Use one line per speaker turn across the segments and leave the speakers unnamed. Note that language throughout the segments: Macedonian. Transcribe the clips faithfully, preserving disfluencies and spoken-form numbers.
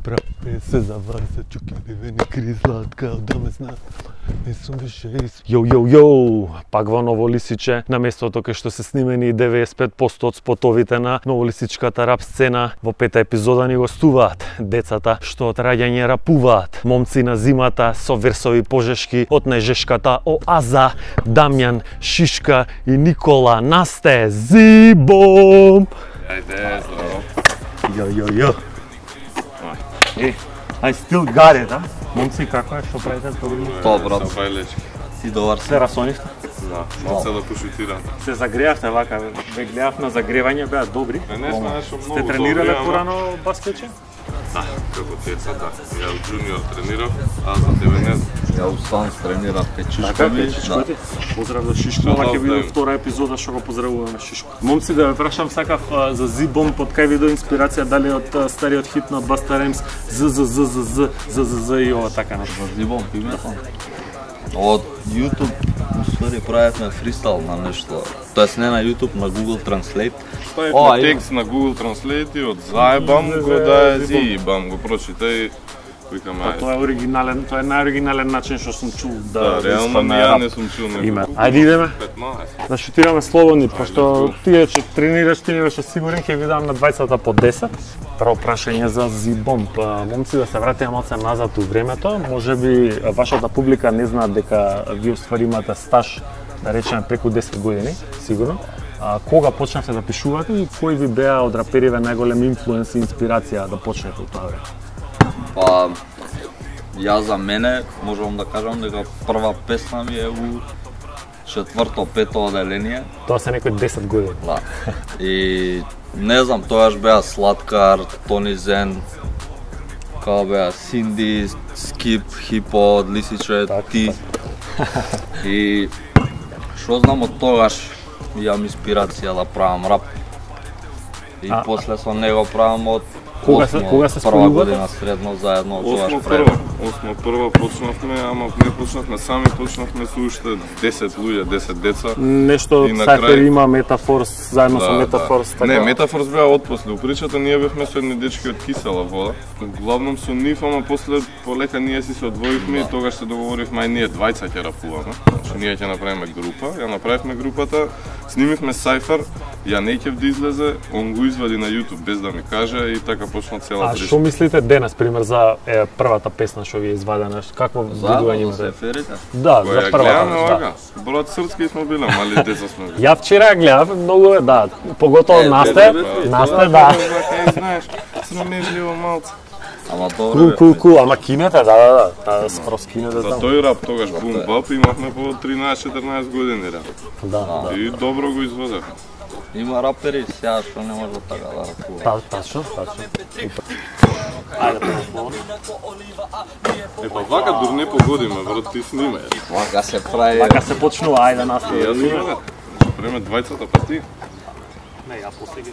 Брапе се заварса, чукливени кризлатка, да ме знам, не сум више из... Јоу, јоу, јоу, пак во Новолисиче, на местото кај што се снимени деветдесет и пет проценти од спотовите на новолисичката рап сцена, во пета епизода ни гостуваат децата што од раѓање рапуваат, момци на зимата со версови пожешки од најжешката оаза, Дамјан, Шишка и Никола Насте Зибом.
Ајде, здраво.
Јо, јо, јо. Е, I still got it, а? Момци, како е, што правите добро?
Тоа, брат.
Са бајлечки.
Си добар
Се расонивте?
Да, малце да пошутирам.
Се загреавте вака, ве гледав на загревање, беа добри.
Не сме нешто многу
Сте
добри,
тренирале
ама...
порано баскетче?
Да, како деца, да. Ја од джуниор тренирав, а за тебе не знам.
Ја устан тренирав
Така,
печишкови.
печишкови. Поздрав за Шишко, ова ќе биде втора епизода што го поздравуваме Шишко. Момци, да ве прашам сакав а, за Зибом, под кај видео инспирација, дали од а, стариот хит на Баста Ремс, з з з з з з з з и ова така нешто.
За Зибом пимето. Од YouTube, уствари, правевме фристайл на нешто. Тоест не на YouTube, на Google Translate.
Ставивме текст на Google Translate и од заебам го да зибам, го прочитај. Викам, ајде.
Тоа е оригинален, тоа е најоригинален начин што сум чул да
Да, реално
испадне
ја
рап.
не сум чул
Име.
некој.
Ајде идеме.
петнаесет.
Да шутираме слободни, пошто
let's go.
тие че тренираш, ти не беше сигурен, ќе ви дам на двајцата по десет. Прво прашање за Зибом. Па, момци, да се вратиме малце назад у времето, можеби вашата публика не знаат дека ви уствари имате стаж, да речеме преку десет години, сигурно. А, кога почнавте да пишувате и кои ви беа од рапериве најголем инфлуенс и инспирација да почнете од тоа време?
Па, ја за мене можам да кажам дека прва песна ми е у четврто, пето оделение.
Тоа се некои десет години.
Да. И не знам, тогаш беа Сладкар, Тони Зен, као беа Синди, Скип, Хипо, од Лисиче,
Так,
ти. И што знам од тогаш јам инспирација да правам рап. И
А,
после со него правам од
Кога се-
осмо,
кога се
прва
спојувате?
година средно заедно тогаш
Осмо
правим.
прва, осмо прва почнавме, ама не почнавме сами, почнавме со уште десет луѓе, десет деца.
Нешто
И на
Сайфер
крај-
има Метафорс, заедно со
Да,
Метафорс,
да.
така.
Не, Метафорс беа отпосле. У причата ние бевме со едни дечки од Кисела вода. Главном со нив, ама после полека ние си се одвоивме и тогаш се договоривме ај ние двајца ќе рапуваме. Значи ние ќе направиме група, ја направивме групата, снимивме Сайфер, ја не ќе да излезе, он го извади на YouTube без да ми каже и така почна цела
А
прича.
што мислите денес, пример, за е, првата песна што ви е извадена? Какво видување
Заедно
имате?
се ферите.
Да,
Која
за
ја
првата.
гледаме
Да.
овака. Брат српски сме биле, мали деца сме биле.
Ја вчера ја гледав, многу е, да, поготово
Е,
Насте,
бе, бе, бе,
Насте,
Тоа
да.
е, бака, и знаеш, срамежливо малце.
Ама добро
Кул,
бе.
кул, кул, ама кинете, да, да, да, да, скоро скинете
За
таму.
тој рап тогаш бум бап имавме по тринаесет-четирнаесет години рап.
Да, да.
И добро го извадевме.
Има рапери сега што не може така да рапува.
Та, тачно, тачно. Ајде, прво.
Е, па вака дур не погодиме, брат, ти сниме.
Вака се прави.
Вака се почнува, ајде, Насте.
Јас сниме, бе. Ще преме двајцата па ти.
Не, ја после ги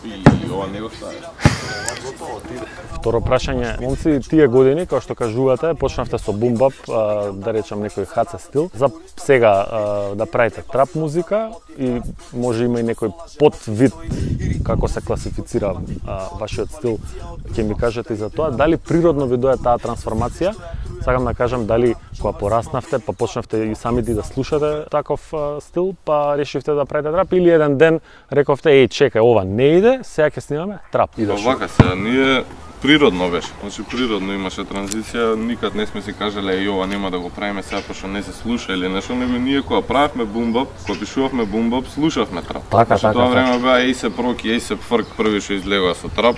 И ова не го стави.
Второ прашање, момци, тие години, како што кажувате, почнавте со бумбап, да речам некој хаце стил. За сега а, да правите трап музика и може има и некој подвид како се класифицира а, вашиот стил, ќе ми кажете и за тоа. Дали природно ви дое таа трансформација? Сакам да кажам дали кога пораснавте, па почнавте и самите да слушате таков а, стил, па решивте да правите трап или еден ден рековте, еј, чекај, ова не иде, сега ќе снимаме трап.
Па
Идеш.
вака сега, ние природно беше. Значи природно имаше транзиција, никад не сме си кажале еј ова нема да го правиме сега пошто не се слуша или нешто, него ние кога правевме бумбап, кога пишувавме бумбап, слушавме трап.
Така,
Значи,
така,
тоа
така.
време беа Ейсеп Роки, Ейсеп Фрк први што излегоа со трап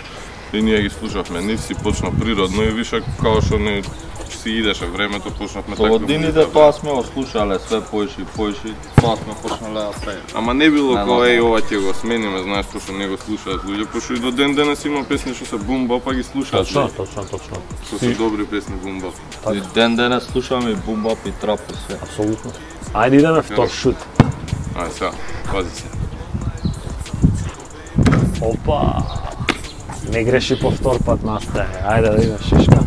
и ние ги слушавме. Нив си почна природно и више као што не си идеше времето, почнавме
Со
така.
годините тоа сме го слушале све поише и поише, тоа сме почнале да правиме.
Ама не било
Не,
кој
не.
еј ова ќе го смениме, знаеш што не го слушаат луѓе, пошто и до ден денес има песни што се бумбап, па ги слушаат.
Точно,
луѓе.
точно, точно.
Што се добри песни бумбап.
И ден денес слушаме и бумбап и трап и све.
Апсолутно. Ајде идеме втор шут.
Ај сега, пази се.
Опа. Не греши по втор пат, Насте. Ајде да идеш Шишка.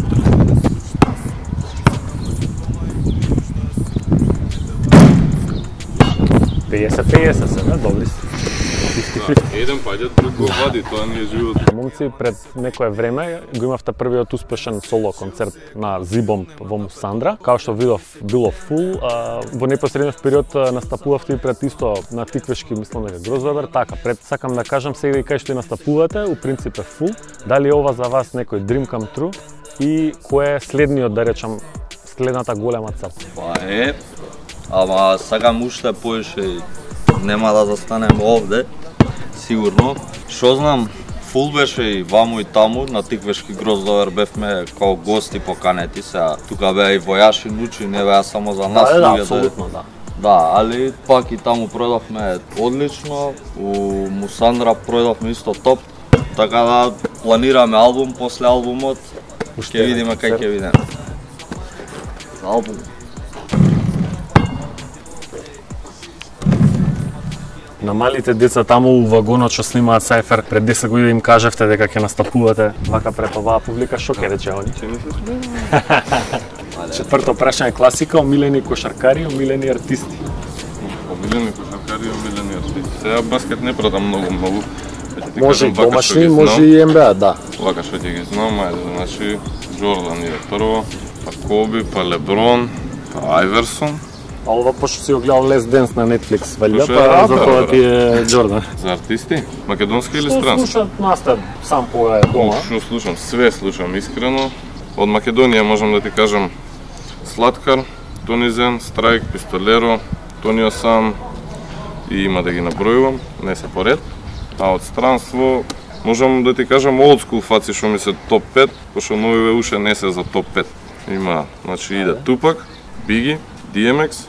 пеесет пеесет се, бе, добри си.
Да, еден паѓа, друг го вади, тоа не е живот.
Момци, пред некое време го имавте првиот успешен соло концерт на Зибом во Мусандра. Као што видов, било фул. А, во непосредниот период настапувавте и пред исто на Тиквешки, мислам дека Гроздовер. Така, пред сакам да кажам сега и кај што и настапувате, у принцип е фул. Дали ова за вас некој dream come true и кој е следниот, да речам, следната голема цел?
Па е, ама сакам уште поише, нема да застанем овде, сигурно. Шо знам, фул беше и ваму и таму, на Тиквешки Гроздовер бевме као гости поканети, сега тука беа и војаши учи, не беа само за нас.
Да, да, апсолутно, да.
Да, али пак и таму пројдовме одлично, у Мусандра пројдовме исто топ, така да планираме албум после албумот, ќе видиме кај ќе видиме. За албум.
На малите деца таму у вагонот што снимаат Сајфер, пред десет години им кажавте дека ќе настапувате вака пред оваа публика, што ќе рече они? Четврто прашање, класика, омилени кошаркари, омилени артисти.
Омилени кошаркари, омилени артисти. Сега баскет не пратам многу, многу.
Може и домашни, може и Н Б А, да.
Вака што ќе ги знам, ајде, значи Джордан е прво, па Коби, па Леброн, па Айверсон.
А ова пошто си го гледал Last Dance на Netflix, валја,
Слушај,
па
да,
затоа
да,
ти е Джордан.
За артисти? Македонски или
Што
странски?
слушат настап сам кога е дома?
Што слушам? Све слушам искрено. Од Македонија можам да ти кажам Сладкар, Тонизен, Страйк, Пистолеро, Тонио Сан и има да ги набројувам, не се поред. А од странство можам да ти кажам old school фаци што ми се топ пет, пошто новиве уште не се за топ пет. Има, значи иде Тупак, Биги, Ди Ем Екс,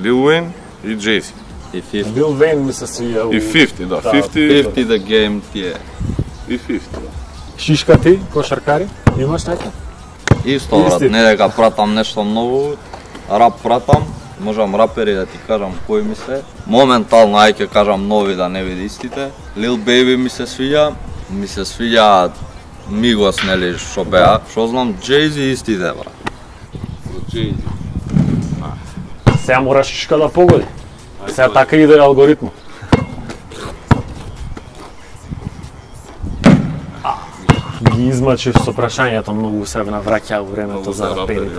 Лил Уейн и Джейси.
И петдесет.
Бил Вейн ми се свија.
И петдесет, да,
Да,
петдесет.
петдесет the game ти е.
И петдесет, да.
Шишка ти, кошаркари, имаш нека?
Исто, брат,
Исти.
не дека пратам нешто ново, рап пратам, можам рапери да ти кажам кои ми се. Моментално ај ќе кажам нови да не види истите. Lil Baby ми се свиѓа, ми се свиѓа Мигос, нели, што беа. Што знам, Jay-Z истите, брат.
Jay-Z.
Сега мора Шишка да погоди. Сега така иде алгоритмот. Ги измачив со прашањето, многу се навраќа во времето за рапери.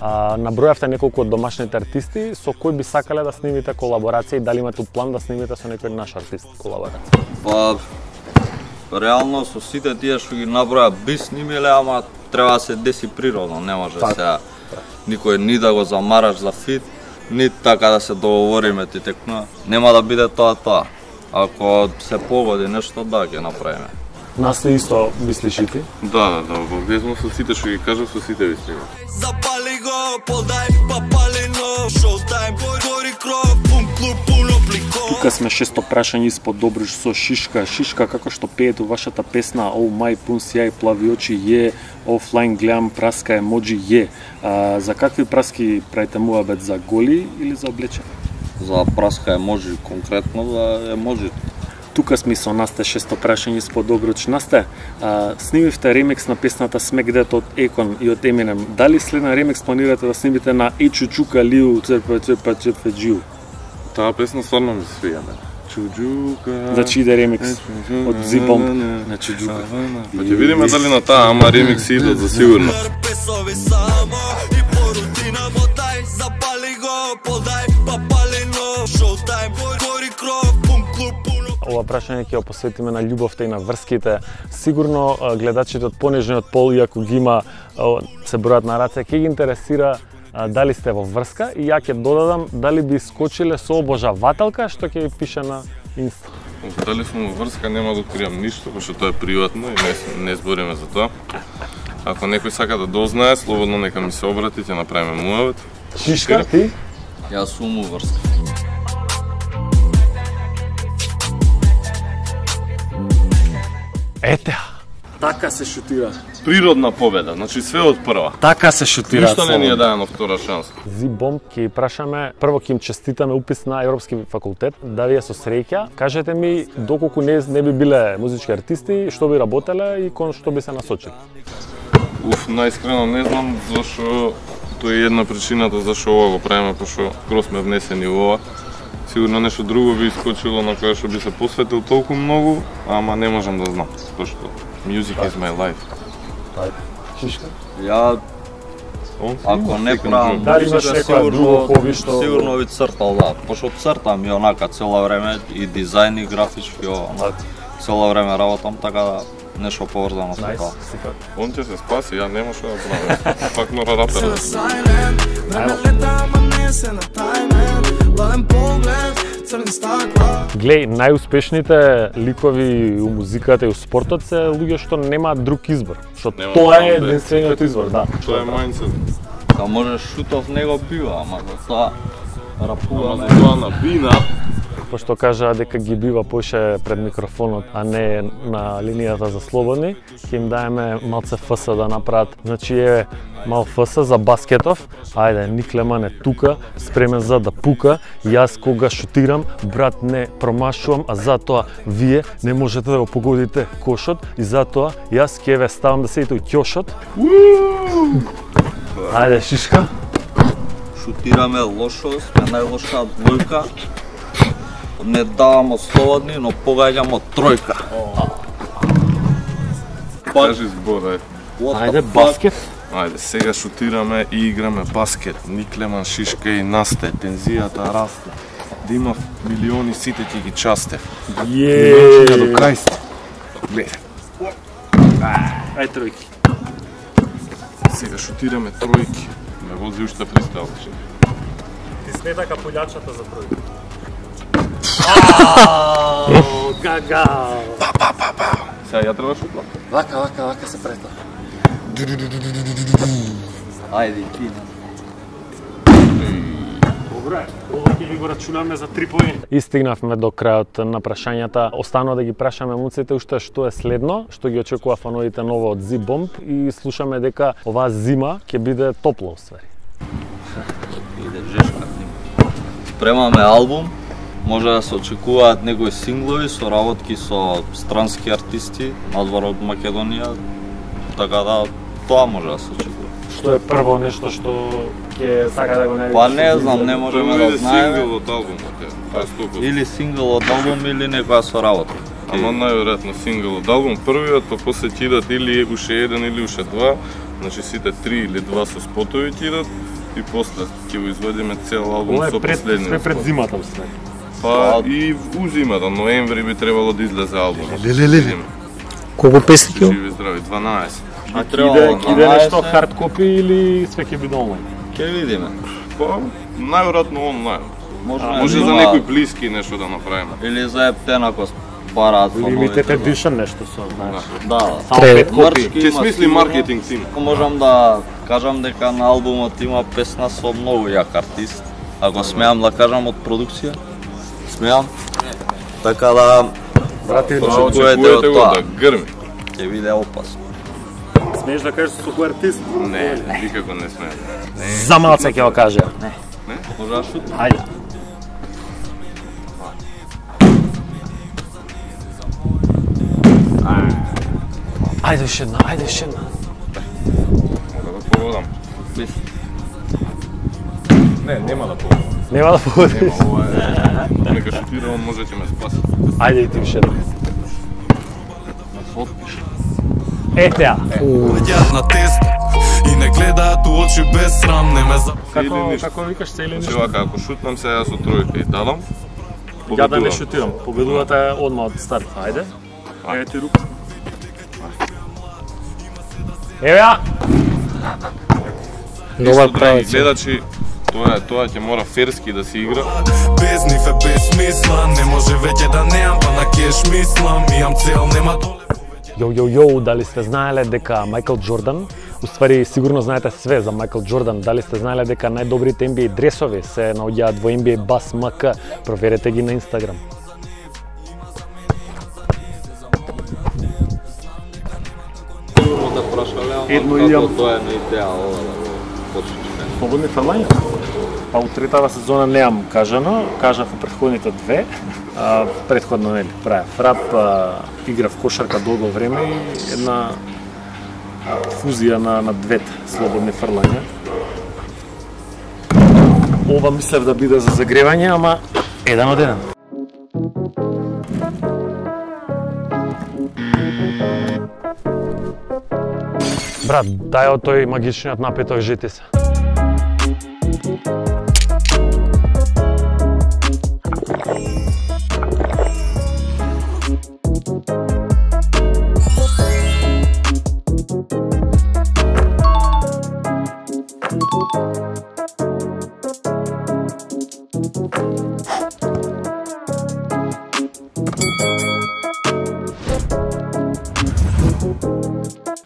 А, набројавте неколку од домашните артисти, со кој би сакале да снимите колаборација и дали имате план да снимите со некој наш артист колаборација?
Па, реално со сите тие што ги наброја би снимиле, ама треба да се деси природно, не може
Така.
сега никој ни да го замараш за фит, ни така да се договориме ти текна. Нема да биде тоа тоа. Ако се погоди нешто, да, ќе направиме.
Нас ли исто мислиш и ти?
Да, да, да, во везно со сите што ги кажав, со сите ви стигам.
Запали го, подай, па палено, шоутайм, гори кров, пун клуб, пуно плико.
Тука сме шесто прашање испод Добрич со Шишка. Шишка, како што пеете вашата песна Oh My Пун сјај, плави очи е, офлайн гледам праска емоджи е. А, за какви праски правите муабет, за голи или за облечени?
За праска еможи, конкретно за еможи.
Тука сме со Насте шесто прашање испод Добрич. Насте, а, снимивте ремикс на песната Smack That од Екон и од Eminem. Дали следен ремикс планирате да снимите на Е Чучука Лиу Црпа Црпа Црпа Джиу?
Таа песна стварно ми се свиѓа, мене. Чуджука.
Значи иде ремикс од Зибом на Чучука.
Па ќе видиме дали на таа, ама ремикси идат за сигурно.
Песови само и по рутина мотай, запали го, подай, па палено, шоутайм, гори кров, пун клуб, пуно.
Ова прашање ќе го посветиме на љубовта и на врските. Сигурно а, гледачите од понежниот пол, иако ги има, а, се бројат на раце, ќе ги интересира а, дали сте во врска и ја ќе додадам дали би скочиле со обожавателка што ќе ви пише на Инста.
Дали сум во врска, нема да откриам ништо, пошто тоа е приватно и не, не збориме за тоа. Ако некој сака да дознае, слободно нека ми се обрати, ќе направиме муавет.
Шишка, ти?
Јас сум уврска.
Ете, така се шутира.
Природна победа, значи све од прва.
Така се шутира.
Ништо не ни е даено втора шанса.
Зибом ќе прашаме, прво ќе им честитаме упис на Европски факултет, да ви е со среќа. Кажете ми доколку не, не би биле музички артисти, што би работеле и кон што би се насочили?
Уф, наискрено не знам зашо тоа е една причината зашо ова го правиме, пошто скоро сме внесени во ова. Сигурно нешто друго би искочило на кое што би се посветил толку многу, ама не можам да знам, зашто music is my life.
Шишка?
Ја ако не правам
Дали имаш
музика,
некоја друго
сигурно
хоби што
сигурно би цртал, да. Пошто цртам и онака цело време и дизајн и графички, онака цело време работам, така да нешто поврзано со тоа.
Он ќе се спаси, ја нема што да правам. Пак мора рапер.
Глеј, најуспешните ликови у музиката и у спортот се луѓе што немаат друг избор, што
Нема
тоа е
да.
единствениот избор, да.
Тоа е мајндсет.
Да можеш шутов него бива, ама за тоа
Ама
рапуваме.
за тоа на бина,
Пошто кажаа дека ги бива поише пред микрофонот, а не на линијата за слободни, ќе им даеме малце фс да направат. Значи е мал фс за баскетов. Ајде, Никлеман е тука, спремен за да пука. Јас кога шутирам, брат, не промашувам, а затоа вие не можете да го погодите кошот и затоа јас ќе ве ставам да седите у ќошот. Ајде, Шишка.
Шутираме лошо, сме најлоша двојка. Не давамо слободни, но погаѓамо тројка.
кажи збор, ајде.
What the
Ајде,
fuck?
баскет.
Ајде, сега шутираме и играме баскет. Никлеман, Шишка и Насте, тензијата расте. Да има милиони, сите ќе ги часте. Милиончиња до крај сте. Гледај.
Ајде, тројки.
Сега шутираме тројки. Ме вози уште фристайл.
Ти смета капулјачата за тројки. Гага.
Сега ја треба шутла.
Вака, вака, вака се претла.
Ајде, ти.
Добре, ова ќе ви го рачунаме за три поени. И стигнавме до крајот на прашањата. Останува да ги прашаме муците уште што е следно, што ги очекува фановите ново од Z-Bomb и слушаме дека оваа зима ќе биде топло усвари.
Иде жешка. Спремаме албум. Може да се очекуваат некои синглови со работки со странски артисти надвор од Македонија. Така да тоа може да се очекува.
Што е прво нешто што ќе сака да го најдеш?
Па не знам, не можеме да
иде
знаеме.
сингл од албумот, е. Тоа е сто проценти.
Или сингл од албум или некоја соработка.
Ама најверојатно сингл од албум првиот, па после ќе идат или уште еден или уште два, значи сите три или два со спотови ќе идат и после ќе го изведеме цел албум
Ова
со
е пред,
последниот.
све пред зимата усвари.
Па и у зимата, ноември би требало да излезе албумот.
Леле, Колку песни ќе?
Живи здрави, дванаесет.
А
Би
ќе
требало
иде, ќе иде нешто
дванаесет.
хард копи или све ќе биде онлайн?
Ќе видиме.
Па најверојатно онлайн.
Може,
Може за некои блиски нешто да направиме.
или за ептен ако бараат
Limited
фановите.
edition нешто со, знаеш.
Да,
Само
Тре-
пет копи.
Мрчки
Ќе
има
смисли
сигурно.
маркетинг тим.
Ако можам да кажам дека на албумот има песна со многу јак артист. Ако смеам да кажам од продукција, смеам. Така да
Брате,
Па
очекувате
очекувате
од
го
тоа.
да грми.
ќе биде опасно.
смееш да кажеш со кој артист?
Не, никако не сме.
За малце ќе го кажа.
Може да шутим?
Ајде. Ајде уште една, ајде уште една.
Да го погодам.
Бис.
Не, нема да погодам.
Нема да погодиш.
Нема, ова е. Нека шутира, он може ќе ме спаси.
Ајде и ти уште една.
Отпиш.
Етеа.
Јас на тест и не гледаат у очи без срам, не ме за...
Како,
Или ништо.
како викаш се или
Значи
ништо?
вака, ако шутнам се јас со тројка и дадам,
Ја да не
победувам.
шутирам. Победувате одма од старт. Ајде. Ајде ти рука. Еве ја.
Нова
Исто, драги
правица.
гледачи, тоа е, тоа ќе мора ферски да се игра.
Без нив е без смисла, не може веќе да неам, па на кеш мислам, имам цел, нема доле.
Јоу, јоу, јоу, дали сте знаеле дека Майкл Џордан, уствари сигурно знаете све за Майкл Џордан, дали сте знаеле дека најдобрите Н Б А дресови се наоѓаат во Н Б А Бас М К, проверете ги на Инстаграм.
Сигурно те прашале, ама
Едно
како
имам.
тоа е на идеја ова да го почнеш.
Слободни фрлања? Па у третава сезона неам кажано, кажав у претходните две. А, предходно нели правев фрап, а, играв кошарка долго време и една а, фузија на на двете слободни фрлања. Ова мислев да биде за загревање, ама Еден од еден. Брат, дај од тој магичниот напиток жити се.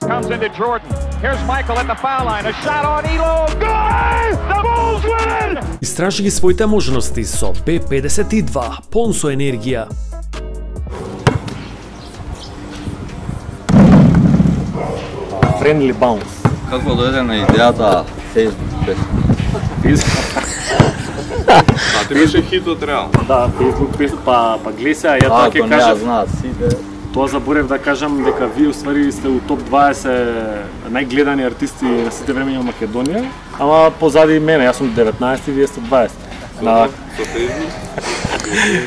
Comes into Jordan. Here's Michael at the foul line. A shot on Elo. Good! The Bulls win!
Истражи ги своите можности со Б педесет и два, полн со енергија.
Friendly bounce.
Како дојде на идејата Facebook песна?
А ти беше хитот реално?
Да, Facebook песна, па, па глеса, ја
А,
тоа ќе
ако не ја
кажам.
знаат сите.
Тоа заборев да кажам дека вие уствари сте у топ дваесет најгледани артисти на сите времења во Македонија, ама позади мене, јас сум деветнаесет и вие сте дваесет. На
Со Facebook?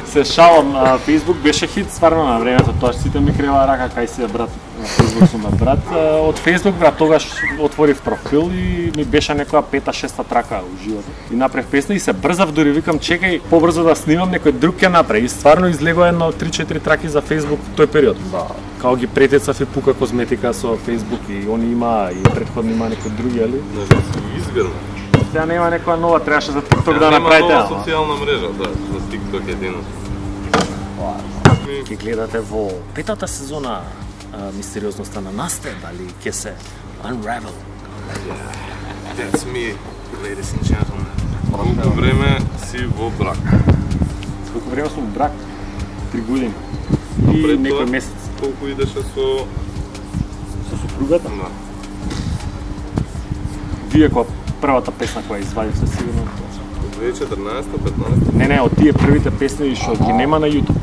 се шалам, а, Facebook беше хит стварно на времето, тоа сите ми крева рака кај се брат. На Facebook сум брат. А, од Facebook брат тогаш отворив профил и ми беше некоја пета шеста трака у животот. И направив песна и се брзав, дури викам чекај побрзо да снимам, некој друг ќе направи. И стварно излегува едно три-четири траки за Facebook тој период. Да. Као ги претецав и Пука козметика со Facebook и они има и претходно има некои други, али?
Може да си изгрна.
Сега нема некоја нова, требаше за TikTok
Ја
да
нема
направите.
нова
ама.
социјална мрежа, да, за TikTok едино.
Ќе гледате во петата сезона а, мистериозноста на Насте, дали ќе се unravel.
That's me, ladies and gentlemen. Колку време си во брак?
Колку време сум во брак? Три години. И
пред
некој
тоа?
месец
Колку идеше со...
со супругата.
Да.
Вие која првата песна која извадивте сигурно.
две илјади и четрнаесета петнаесета
Не, не, од тие првите песни што ги нема на YouTube.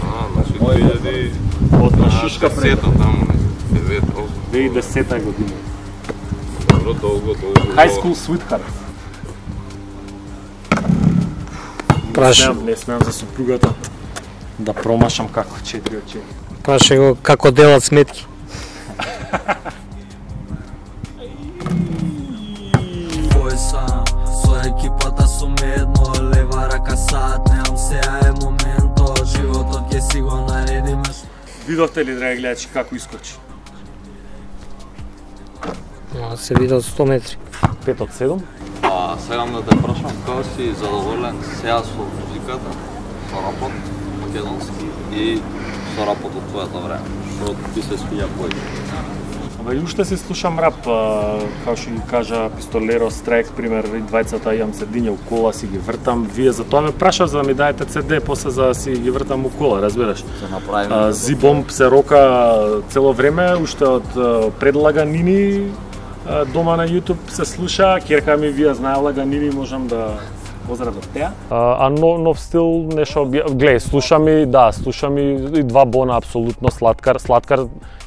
А, значи две илјади
Од на Шишка пред
десета таму, не? девет, осум.
две илјади и десета година.
Добро, долго, долго.
High School Sweetheart.
Праши,
Не смеам за супругата да промашам како четири од четири.
праши го како делат сметки.
Кој сам, со екипата сум едно, лева рака саат, немам сеја е моментот, животот ќе си го наредиме.
Видовте ли, драги гледачи, како искочи?
А, се видел сто метри.
пет од седум.
А сегам да те прашам, како си задоволен сега со музиката, со рапот македонски и со рапот од твојата време? Што ти се свиѓа појде?
Абе, и уште се слушам рап, а, како што ги кажа Пистолеро, Страйк, пример, и двајцата имам седиња у кола, си ги вртам. Вие за тоа ме прашав за да ми даете Це Де, после за да си ги вртам у кола, разбираш?
Се направи.
А, Зибомб се рока цело време, уште од а, пред Лаганини а, дома на YouTube се слуша, керка ми вие знае Лаганини, можам да поздравам теа. А, а нов, нов стил, нешто, глеј, слушам и, да, слушам и, и два бона, апсолутно, Слаткар, Слаткар,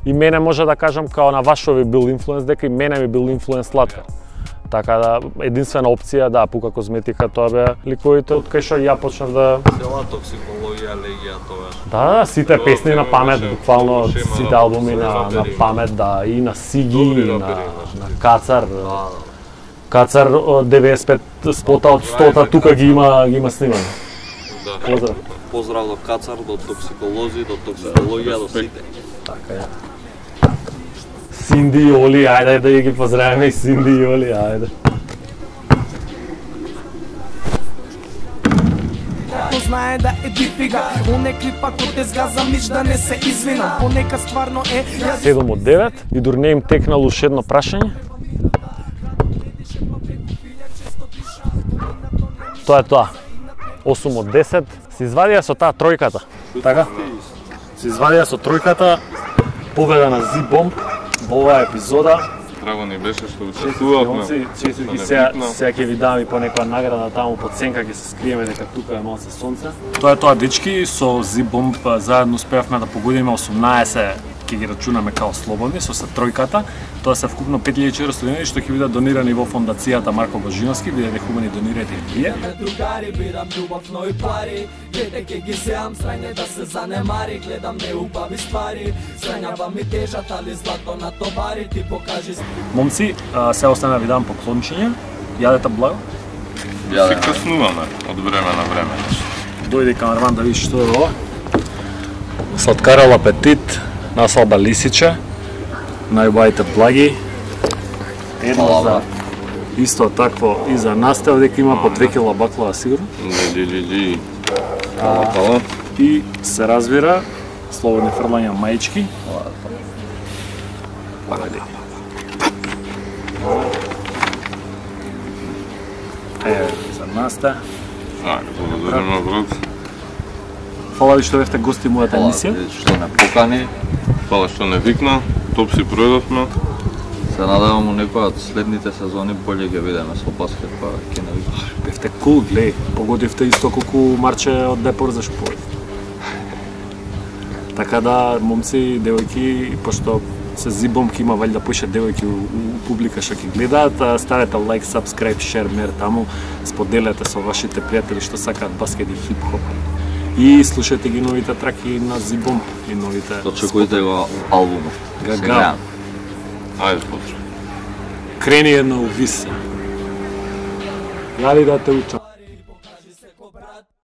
и мене може да кажам, као на Вашови бил инфлуенс, дека и мене ми бил инфлуенс Слаткар. Така да, единствена опција, да, Пука козметика, тоа беа ликовите од кај што ја почнав да...
Цела токсикологија, легија, тоа.
Да, да, сите
Тоа
песни на
ти
памет,
имаше-
буквално
имаше има
сите
на-
албуми на, на
рапери.
памет, да, и на Сиги,
Добри
и на,
рапери имаше.
на Кацар.
Да, да.
Кацар од деветдесет и пет спота од стота тука ги има ги има снимано.
Да.
Поздрав.
Поздрав до Кацар, до токсиколози, до токсикологија, до сите.
Така е. Синди и Оли, ајде да ги поздравиме и Синди и Оли, ајде.
Знае да е дифига, онекли пак од те згаза мич да не се извина. Понека стварно е, ја
седум од девет и дур не им текнало уште едно прашање. Тоа е тоа. осум од десет. Се извадија со таа тројката. Така? Се извадија со тројката. Победа на Зибомб во оваа епизода.
Драго ни беше што учествувавме.
Честит ги
Што
сега,
небитно.
сега ќе ви дам и по некоја награда таму под сенка, ќе се скриеме дека тука е малце сонце. Тоа е тоа, дечки, со Зибомб заедно успеавме да погодиме осумнаесет ќе ги рачунаме као слободни со се тројката, тоа се вкупно пет илјади четиристотини денари што ќе бидат донирани во фондацијата Марко Божиновски, бидете хубави донирате и вие.
Другари, бирам љубов, но и пари. Гледај ке ги сеам, срање да се занемари. Гледам неубави ствари, срањава ми тежат, али злато на товари. Ти покажи.
Момци, се остана ви дам поклончиња. Јадете благо.
Се каснуваме од време на време.
Дојде камерман да видиш што е ова. Сладкарал апетит, насалба лисиче, најубавите благи. Едно за исто такво и за настав, дека има по две кила баклава сигурно.
Ли, ли, ли. Пала, пала.
И се разбира, слободни фрлања маички. Погоди. Еве, за наста.
Ајде, благодарам брат.
Фала ви што бевте гости мојата емисија.
Фала што не покани.
Фала што не викна, топ си пројдовме.
Се надевам у некоја од следните сезони боле ќе видиме со баскет, па ќе не викна.
Бевте кул, глеј, погодивте исто колку Марче од Депор за шпорт. Така да, момци и девојки, пошто се зибом ке има валјда поише девојки у, у публика што ќе гледаат, ставете лайк, сабскрајб, шер, мер таму, споделете со вашите пријатели што сакаат баскет и хип-хоп. И слушајте ги новите траки на Зибом и новите...
Очекујте го албумот.
Гага.
Ајде, потре.
Крени едно увисе. Јали да те учам.